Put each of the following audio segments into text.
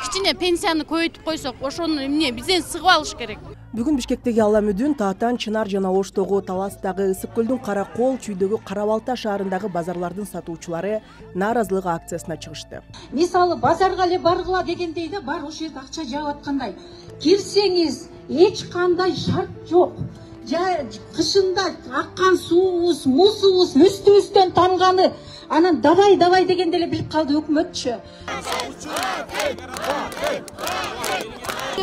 Кичине пенсияны көбөйтүп койсок, ошону эмне бизден сыгып алыш керек. Бүгүн Бишкектеги Алла Мүдүн, Таатан, Чынар жана Оштогу, Таластагы, Ысык көлдүн Каракол, Чүйдөгү Кара Балта шаарындагы базарлардын сатуучулары нааразылык акциясына чыгышты. Мисалы базарга эле баргыла дегендей да бар ошол жерде акча жаап аткандай. Кирсеңиз эч кандай шарт жок. Кышында аккан суубуз, мусубуз үстүбүздөн танганы, анан давай дегенде эле билип калды өкмөтчү.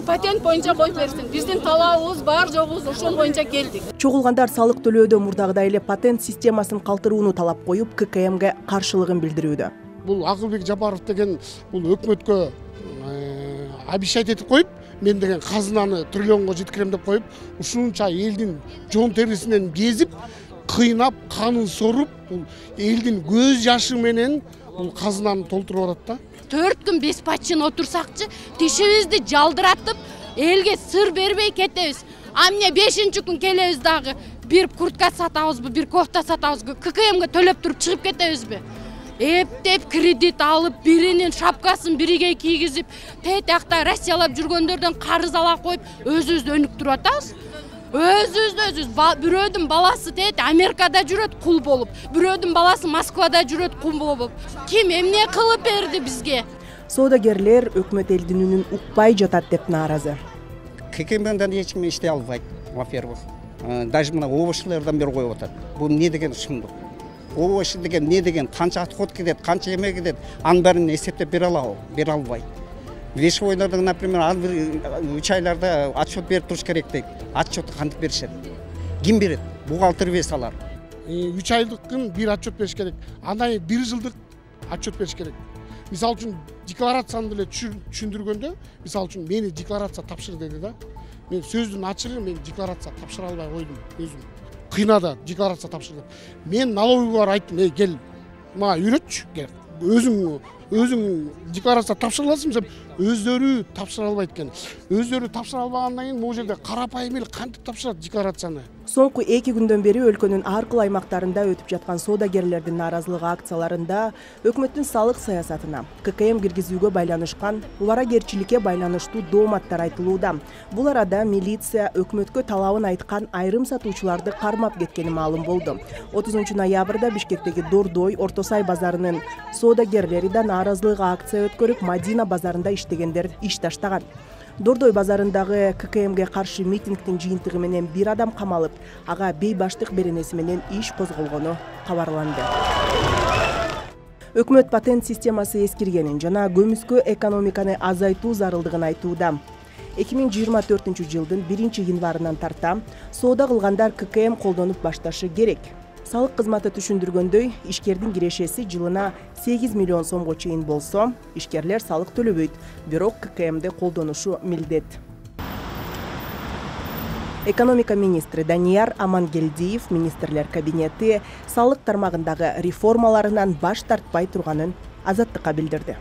Патент боюнча коюп берсин. Биздин талабыбыз бар жогубуз ошол боюнча келдик. Чогулгандар салык төлөөдө мурдагыдай эле патент системасын калтырууну талап коюп, ККМге каршылыгын билдирүүдө. Бул Акылбек Жапаров деген бул өкмөткө обещать этип коюп, мен деген казынаны триллионго жеткирем деп коюп, ушунча элдин жон терисинен кезип, кыйнап, канын соруп, бул элдин көз жашы менен бул казынаны толтуруп атат да. 4 күн беспачын отурсакчы, тишибизди жалдыратып, элге сыр бербей кетебиз. А эмне 5-чи күн келебиз дагы бир куртка сатабызбы, бир кофта сатабызбы, ККМге төлөп туруп чыгып кетебизби? Эптеп кредит алып, биринин шапкасын бириге кийгизип, тетакта Россиялап жүргөндөрдөн карыз ала коюп, өзүбүздү өнүктүрүп атабыз. Өзүбүз бирөөдүн баласы Америкада жүрөт кул болуп, бирөөдүн баласы Москвада жүрөт кул болуп. Ким эмне кылып берди бизге? Соодагерлер өкмөт элдин үнүн укпай жатат деп нааразы. ККМден эч ким иштей албайт, во-первых. Даже мына овощилерден бери коюп атат. Бул эмне деген шындык? Овощи деген эмне деген, канча отход кетет, канча эме кетет, анын баарын эсептеп бере алабы? Бере албайт. Вешевойлордун, например, ар бир 3 айларда отчет берип туруш керек дейт. Отчетты кантип беришет? Ким берет? Бухгалтер вес алар. 3 айлыктын бир отчет бериш керек. Андан кийин 1 жылдык отчет бериш керек. Мисалы үчүн декларацияны деле түшүндүргөндө, мисалы үчүн мени декларация тапшыр деди да. Мен сөздүн ачыгы мен декларация тапшыра албай койдум өзүм. Кыйнады декларация тапшыр деп. Мен налоговойго айттым, кел, мага үйрөтчү, кел. Өзүң декларация тапшыра аласың деп, өздөрү тапшыра албайт экен. Өздөрү тапшыра албагандан кийин могу жерде карапайым эл кантип тапшырат декларацияны? Соңку 2 күндөн бери өлкөнүн ар кыл аймактарында өтүп жаткан соодагерлердин нааразылык акцияларында өкмөттүн салык саясатына, ККМ киргизүүгө байланышкан убаракерчиликке байланыштуу дооматтар айтылууда. Бул арада милиция өкмөткө талабын айткан айрым сатуучуларды кармап кеткени маалым болду. 30 ноябрда Бишкектеги Дордой, Орто Сай базарынын соодагерлери да нааразылык акция өткөрүп, Мадина базарында иштегендер иш таштаган. Дордой базарындагы ККМге каршы митингдин жыйынтыгы менен бир адам камалып, ага бейбаштык беренеси менен иш козголгону кабарланды. Өкмөт патент системасы эскиргенин жана көмүскө экономиканы азайтуу зарылдыгын айтууда. 2024 жылдын 1 январынан тарта соода кылгандар ККМ колдонуп башташы керек. Салык кызматы түшүндүргөндөй, ишкердин кирешеси жылына 8 миллион сомго чейин болсо, ишкерлер салык төлөбөйт, бирок ККМди колдонушу милдет. Экономика министри Данияр Амангелдиев министрлер кабинети салык тармагындагы реформаларынан баш тартпай турганын Азаттыкка билдирди.